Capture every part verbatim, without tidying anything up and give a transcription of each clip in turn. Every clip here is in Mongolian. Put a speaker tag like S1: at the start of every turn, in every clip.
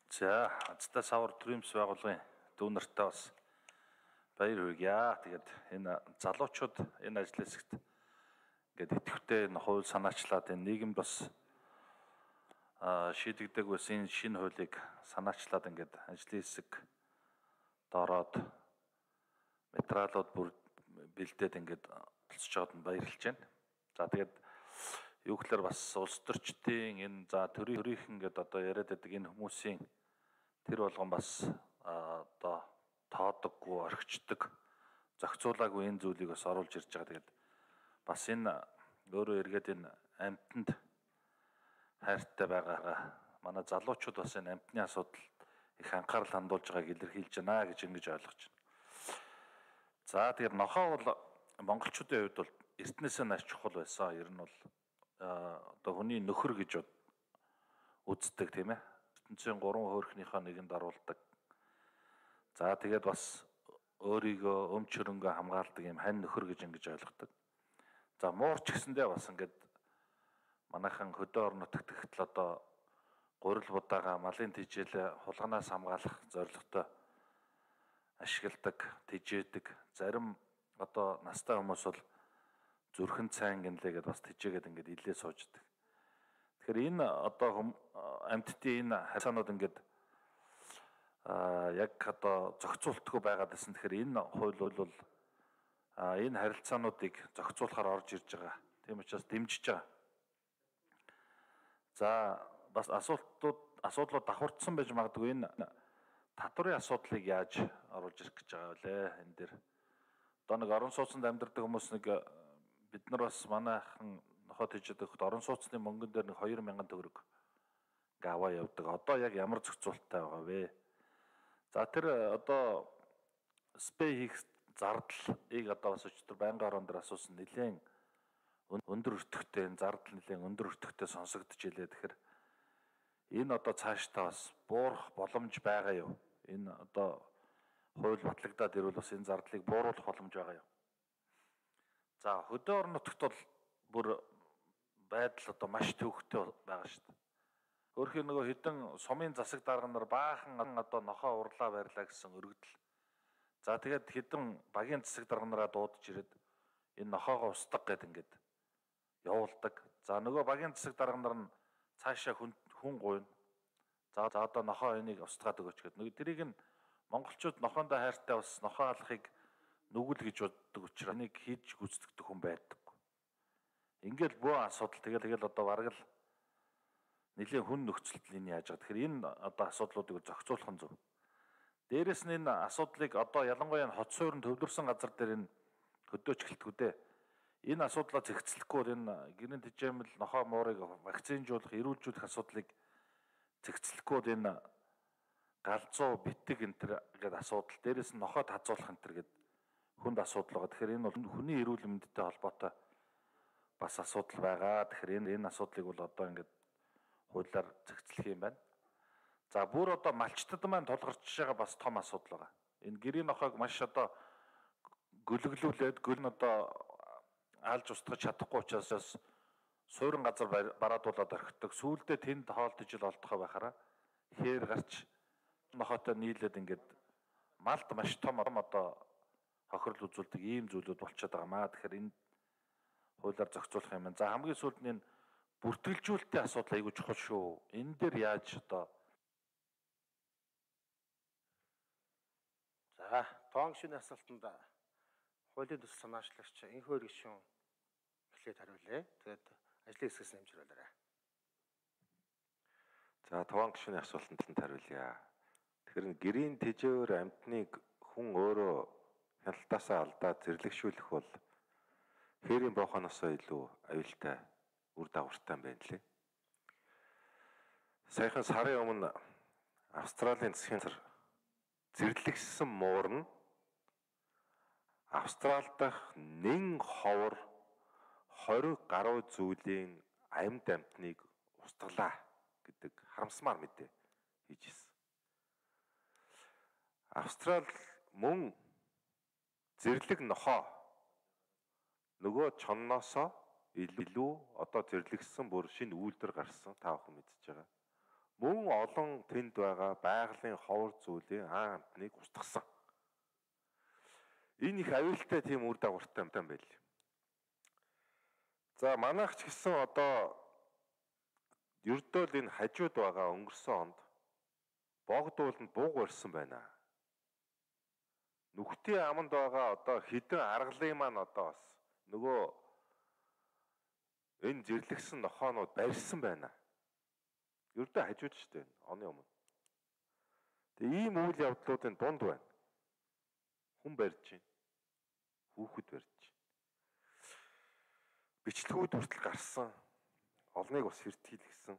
S1: За азтай савар төрөмс байгуулгын дүү нартай бас баяр хүргье. Тэгээд энэ залуучууд энэ ажил хэсэгт ингээд идэвхтэй энэ хууль санаачлаад энэ нийгэмд бас шийдэгдэг байсан энэ шинэ хуулийг санаачлаад ингээд ажлын хэсэг доороод материалууд бүр бэлдээд ингээд болцож байгаад нь баярлж байна. За тэгээд юу гэхээр бас улс төрчдийн энэ за төрийн ингээд одоо яриад байдаг энэ хүмүүсийн тэр болгон бас одоо тоодоггүй, орхичдаг, зохицуулаагүй энэ зүйлийг бас оруулж ирж байгаа. Тэгээд бас энэ өөрөө эргээд энэ амьтанд хайртай байгаа манай залуучууд бас энэ амьтны асуудал их анхаарал хандуулж байгааг илэрхийлж байна гэж ингэж ойлгож байна. За тэгээд нохоо бол монголчуудын хувьд бол эртнээсээ нааш чухал байсан. Ер нь бол одоо хүний нөхөр гэж үздэг тийм ээ. ертөнцийн гурван хөөрхнийхөө нэгэнд оруулдаг. За тэгээд бас өөрийгөө өмч хөрөнгө хамгаалдаг юм хань нөхөр гэж ингэж ойлгодог. За муурч гэсэндээ бас ингээд манайхан хөдөө орон нутагт ихтэл одоо гурил будаага малын тижээлээ хулганаас хамгаалах зорилготой ашигладаг, тижээдэг. Зарим одоо настай хүмүүс бол зүрхэн цайн гинлээ гэдээ бас тижээгээд ингээд илээ сууждаг. Тэгэхээр энэ одоо амьтдын энэ харьцаанууд ингээд яг одоо зохицуултгүй байгаад байсан. Тэгэхээр энэ хууль бол энэ харилцаануудыг зохицуулахаар орж ирж байгаа. Тийм учраас дэмжиж байгаа. За бас асуултууд асуудлууд давхардсан байж магадгүй. Энэ татварын асуудлыг яаж оруулж ирэх гэж байгаа вэ? Энэ дээр одоо нэг орон сууцнд амьдардаг хүмүүс нэг бид нар бас манайхан нохоо тижээд өгөхөд орон сууцны мөнгөн дээр нэг хоёр мянган төгрөг ингээ аваа явдаг. Одоо яг ямар зохицуулттай байгаа вэ? За тэр одоо спей хийх зардлыг одоо бас өчтөр байнгын орон дээр асуусан. Нэлээд өндөр өртөгтэй зардал нэлээд өндөр өртөгтэй сонсогдож илээ. Тэгэхээр энэ одоо цаашдаа бас буурах боломж байгаа юу? Энэ одоо хууль батлагдаад ирвэл бас энэ зардлыг бууруулах боломж байгаа юу? За хөдөө орон нутагт бол бүр байдал одоо маш төвөгтэй байгаа шүү дээ. Өөрөөр нөгөө хэдэн сумын засаг дарга нар баахан одоо нохоо урлаа барьлаа гэсэн өргөдөл. За тэгээд хэдэн багийн засаг дарга нараа дуудаж ирээд энэ нохоогоо устгах гэд ингээд явуулдаг. За нөгөө багийн засаг дарга нар нь цаашаа хүн хүн гуйна. За за одоо нохоо энийг устгаад өгөөч гэд. Нөгөө тэрийг нь монголчууд нохоондоо хайртай бас нохоо алахыг нүгэл гэж боддог учраас энийг хийж гүйцэтгэдэг хүн байдаг. Ингээл бүх асуудал тэгэл тэгэл одоо бараг л нэлийн хүн нөхцөлд энэ яаж байгаа. Тэгэхээр энэ одоо асуудлуудыг зохицуулах нь зөв. Дээрээс нь энэ асуудлыг одоо ялангуяа хот суурин төвлөрсөн газар дээр энэ хөдөөч гэлтгүү дээ. Энэ асуудлаа зэгцлэхгүй энэ гэрийн тэжээмэл нохоо муурыг вакцинжуулах, эрүүлжүүлэх асуудлыг зэгцлэхгүй энэ галзуу битэг энэ төр гэдэг асуудал. Дээрээс нь нохоод хазуулах энэ төр гэдэг хүнд асуудал байгаа. Тэгэхээр энэ бол хүний эрүүл мэндтэй холбоотой бас асуудал байгаа. Тэгэхээр энэ энэ асуудлыг бол одоо ингээд хуулиар зэгцлэх юм байна. За бүр одоо малчтад маань тулгарч байгаа бас том асуудал байгаа. Энэ гэрийн нохойг маш одоо гөлөглүүлээд гөл нь одоо алж устгах чадахгүй учраас суурин газар бараадуулаад орхидог. Сүүлдээ тэнд хоолт ижил олдохоо байхаараа хээр гарч нохойтой нийлээд ингээд малд маш том одоо хохирол үзүүлдэг ийм зүйлүүд болчиход байгаа маа. Тэгэхээр энэ хуулиар зохицуулах юм байна. За хамгийн сүүлд нь энэ бүртгэлжүүлэлтийн асуудал айгүй чухал шүү. Энэ дээр яаж одоо
S2: за тоон гишүүний асуултанд хуулийн төсөл санаачлагч энхүү гишүүн эхлээд хариулъя. Тэгээд ажлын хэсгээс нэмж хариулаарай.
S3: За тоон гишүүний асуултанд хариулъя. Тэгэхээр гэрийн тэжээвэр амьтныг хүн өөрөө хяналтаасаа алдаад зэрлэгшүүлэх бол хээрийн боохоноосоо илүү аюултай үр дагавартай юм байна лээ. Саяхан сарын өмнө Австралийн засгийн газар зэрлэгсэн муурна Австрал дахь нэн ховор хориг гаруй зүйлийн амьд амьтныг устгалаа гэдэг харамсмаар мэдээ хийж ирсэн. Австрал мөн зэрлэг нохоо нөгөө чонноосоо илүү одоо зэрлэгсэн бүр шинэ үйлдвэр гарсан та бүхэн мэдж байгаа. мөн олон тэнд байгаа байгалийн ховор зүйлийн ан амтныг устгасан. Энэ их аюултай тийм үр дагавартай юм байл. За манайх ч гэсэн одоо ердөө л энэ хажууд байгаа өнгөрсөн онд богдууланд бууг барьсан байна. Нүхтийн аманд байгаа одоо хідэн аргалын маань одоо бас нөгөө энэ зэрлэгсэн нохоонууд барьсан байна. Ердөө хажууд штэ оны өмнө. Тэгээ ийм үйл явдлуудын дунд байна. Хүн барьж байна. Хүүхэд барьж байна. Бичлэгүүд хүртэл гарсан. Олныг бас хэртгийлгсэн.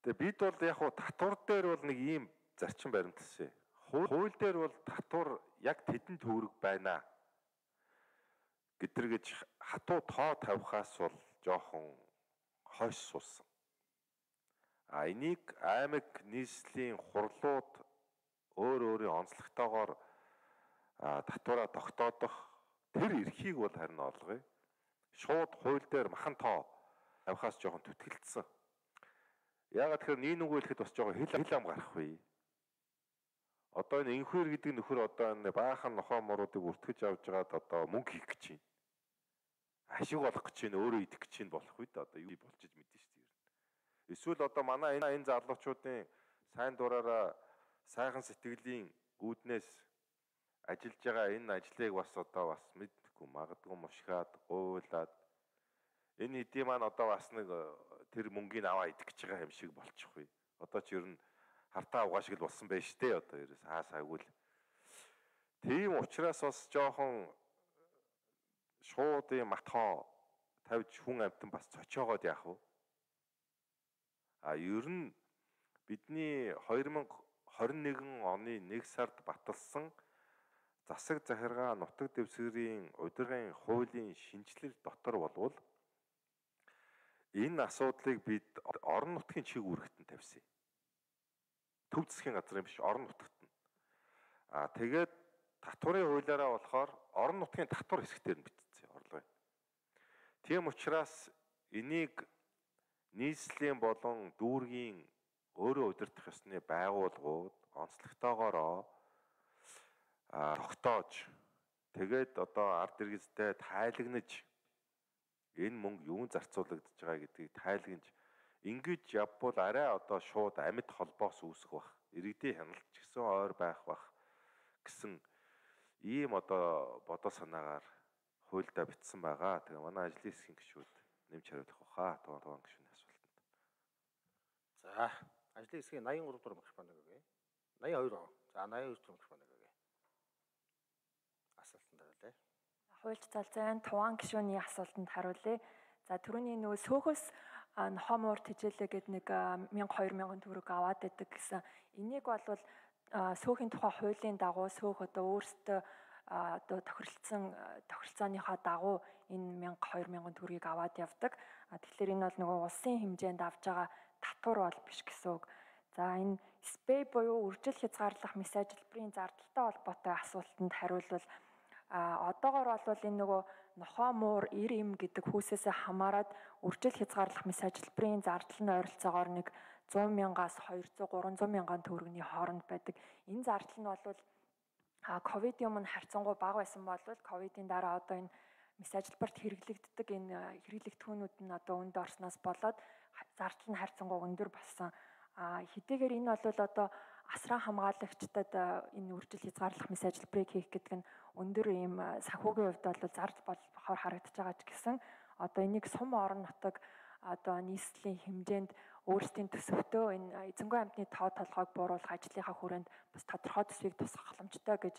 S3: Тэгээ бид бол яг хуу татвар дээр бол нэг ийм зарчим баримталсан. Хууль дээр бол татвар яг тэдэн төгрөг байна гэдэр гэж хатуу тоо тавихаас бол жоохон хойш суусан. А энийг аймаг нийслэлийн хурлууд өөр өөрийн онцлогтойгоор татвараа тогтоодох тэр эрхийг бол харин олгоё. Шууд хууль дээр махан тоо тавихаас жоохон түтгэлцсэн. Яагаад тэгэхээр нэг нүгөө хэлэхэд бас жоохон хил хил ам гарах вэ? Одоо энэ инхүүр гэдэг нөхөр одоо энэ баахан нохоо моруудыг үртгэж авч байгаад одоо мөнгө хийх гэж байна. Ашиг олох гэж байна, өөрөө идэх гэж байна болох үед одоо юу болж иж мэдэн шүү дээ. Эсвэл одоо манай энэ энэ залуучуудын сайн дураараа сайхан сэтгэлийн үүднээс ажиллаж байгаа энэ ажлыг бас одоо бас мэдгүй магадгүй мушгаад гуйлаад энэ хэдий маань одоо бас нэг тэр мөнгийг аваа идэх гэж байгаа юм шиг болчих вэ. Одоо ч ер нь хартаа угаа шиг л болсон байж тээ одоо ерөөс хаасаагүй л. Тийм учраас бас жоохон шууд юм матхоо тавьж хүн амтан бас цочоогоод яах вэ? А ер нь бидний хоёр мянга хорин нэгэн оны нэг сард баталсан засаг захиргаа нутаг дэвсгэрийн удирдлагын хуулийн шинжилэл дотор болвол энэ асуудлыг бид орон нутгийн чиг үүрэгтэн тавьсан. Төв засгийн газрын биш орон нутагт нь. Аа тэгээд татварын хуулиараа болохоор орон нутгийн татвар хэсгээр нь бичсэн орлого. Тийм учраас энийг нийслэлийн болон дүүргийн өөрөө удирдах ёсны байгууллагууд онцлогтойгоороо а тогтоож тэгээд одоо ард иргэдтэй тайлагнаж энэ мөнгө юун зарцуулагдж байгаа гэдгийг тайлагнаж ингэж явбал арай одоо шууд амьд холбоос үүсэх бах иргэдийн хяналт ч гэсэн ойр байх бах гэсэн ийм одоо бодол санаагаар хуульдаа бичсэн байгаа. Тэгээ манай ажлын хэсгийн гишүүд нэмж хариулах баха тугаан тугаан гишүүний асуултанд.
S2: За ажлын хэсгийн восемь три дугаар микрофон өгье. восемь two. За восемь two дугаар микрофон өгье. Асуултанд хариулъя.
S4: Хуульч залзайн тугаан гишүүний асуултанд хариулъя. За түрүүний нөгөө сөөхөөс нохомоор тижээлээ гэдэг нэг мянга хоёр мянган төгрөг аваад байдаг гэсэн. Энийг бол сөөхийн тухай хуулийн дагуу сөөх одоо өөрсдөө одоо тохиролцсон тохиролцооныхаа дагуу энэ мянга хоёр мянган төгрөгийг аваад явдаг. Тэгэхээр энэ бол нөгөө улсын хэмжээнд авж байгаа татвар бол биш гэсэн үг. За энэ спэй буюу үржил хязгаарлах мэс ажилбарын зардалтай холбоотой асуултанд хариулвал а одоогоор бол энэ нөгөө нохоо муур эр им гэдэг хүүсээсээ хамаарат үржил хязгаарлах мэс ажилбарын зардал нь ойролцоогоор нэг сто мянгаас двести триста мянган төгрөгийн хооронд байдаг. Энэ зардал нь бол а ковидын өмнө харьцангуй бага байсан бол ковидын дараа одоо энэ мэс ажилбарт хэрэглэгддэг энэ хэрэглэгдэхүүнүүд нь одоо өнд орсноос болоод зардал нь харьцангуй өндөр болсон. А хэдийгээр энэ бол одоо асран хамгаалагчдад энэ үржил хязгаарлах мэс ажилбарыг хийх гэдэг нь өндөр ийм санхүүгийн хувьд бол зардал болохоор харагдаж байгаа ч гэсэн одоо энийг сум орон нутаг одоо нийслэлийн хэмжээнд өөрсдийн төсөвтөө энэ эзэнгүй амьтны тоо толгойг бууруулах ажлынхаа хүрээнд бас тодорхой төсвийг тусгах боломжтой гэж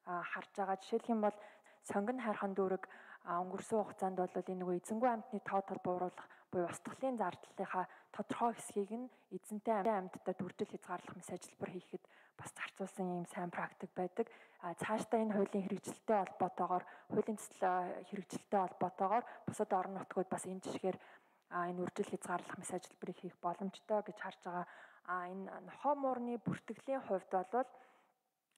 S4: харж байгаа. Жишээлх юм бол сонгон хайрхан дүүрэг өнгөрсөн хугацаанд бол энэ нөгөө эзэнгүй амьтны тоо тол бууруулах буюу устгалын зардлынхаа тодорхой хэсгийг нь эзэнтэй амьтдад үржил хязгаарлах мэс ажилбар хийхэд бас зарцуулсан ийм сайн практик байдаг. А цаашдаа энэ хуулийн хэрэгжилттэй холбоотойгоор хуулийн төсөл хэрэгжилттэй холбоотойгоор бусад орон нутгууд бас энэ жишгээр энэ үржил хязгаарлах мэс ажилбарыг хийх боломжтой гэж харж байгаа. А энэ нохоо муурны бүртгэлийн хувьд бол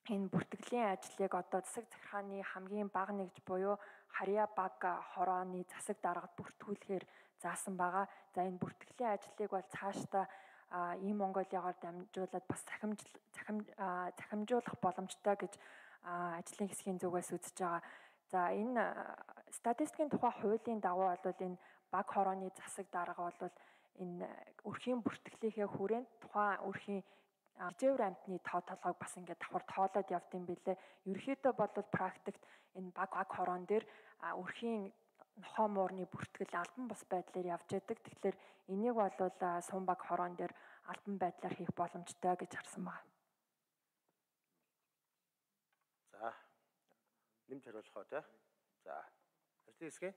S4: энэ бүртгэлийн ажлыг одоо засаг захиргааны хамгийн бага нэгж буюу харьяа баг хорооны засаг даргад бүртгүүлэхээр заасан байгаа. За энэ бүртгэлийн ажлыг бол цаашдаа а ийм Монголиогоор дамжуулаад бас захимж захим захимжуулах боломжтой гэж ажлын хэсгийн зүгээс үзэж байгаа. За энэ статистикийн тухай хуулийн дагуу бол энэ баг хорооны засаг дарга бол энэ өрхийн бүртгэлийнхээ хүрээнд тухайн өрхийн жижигвэр амьтны тоо толгойг бас ингээд давхар тоолоод явд юм билээ. Ерөнхийдөө бол практикт энэ баг баг хороон дээр өрхийн нохоо муурны бүртгэл албан бус байдлаар явж байдаг. Тэгэхээр энийг бол сум баг хороон дээр албан байдлаар хийх боломжтой гэж харсан байна.
S2: За нэмж хариулах уу те. За ажлын хэсгээ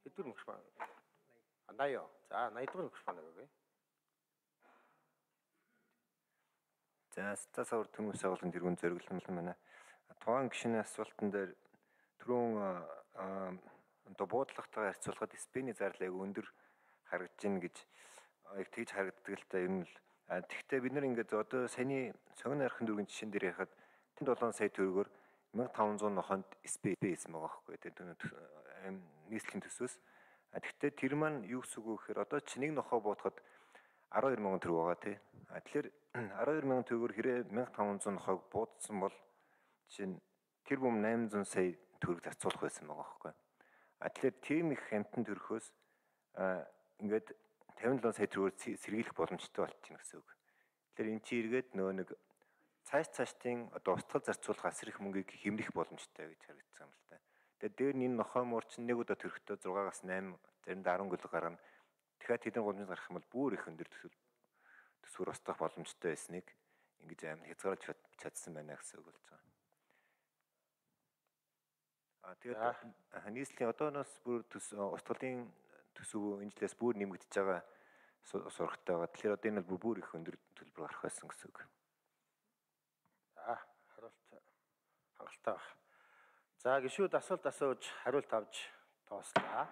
S2: хэдвэр микрофон? Андаяа. За наяд дугаар микрофон өгөөе.
S5: За стасавар төмөс агуулгын тэргүүн зориглол байна. Тухайн гишүүний асуултан дээр түрүүн одоо буудлахтайгаар харьцуулахад спиний зарлыг өндөр харагдаж байна гэж яг тэгж харагддаг л та юм л. Тэгэхдээ бид нар ингээд одоо саяны цогны архын дүүргийн жишээн дээр яхад седем сая төгрөгөөр мянга таван зуун нохонд спи байсан байгаа байхгүй тийм нийслэлийн төсвөөс. Тэгэхдээ тэр маань юу гэсэн үг вэ гэхээр одоо чи нэг нохоо буутахад арван хоёр мянган төгрөг байгаа тий. Тэгэхээр арван хоёр мянган төгрөгөөр хэрэг мянга таван зуун нохойг буудсан бол жишээ нь тэр бүм восемь сая сая төгрөг зарцуулах байсан байгаа байхгүй. А тэгэхээр тийм их амтан төрөхөөс ингээд тавин долоо сая төгрөгөөр сэргийлэх боломжтой болчихно гэсэн үг. Тэгэхээр эн чинь эргээд нөө нэг цааш цаашдын одоо устгал зарцуулах асар их мөнгийг хэмнэх боломжтой гэж харагдсан юм л та. Тэгээд дээр нь энэ нохой муур чинь нэг удаа төрөхдөө зургаагаас восемь заримдаа арван гөлөг гарна. Тэгэхээр тэдний гомдмол гарах юм бол бүр их өндөр төсвөр төсвөр устгах боломжтой байсныг ингэж амар хязгаарлаж чадсан байна гэсэн үг болж байгаа. А тэгээд нийслэлийн одооноос бүр устгалын төсөв энэ жилээс бүр нэмэгдэж байгаа сурагтай байгаа. Тэгэхээр одоо энэ бол бүр их өндөр төлбөр гарах байсан гэсэн үг.
S2: За хариулт хангалттай байна. За гишүүд асуулт асууж хариулт авч тоослаа.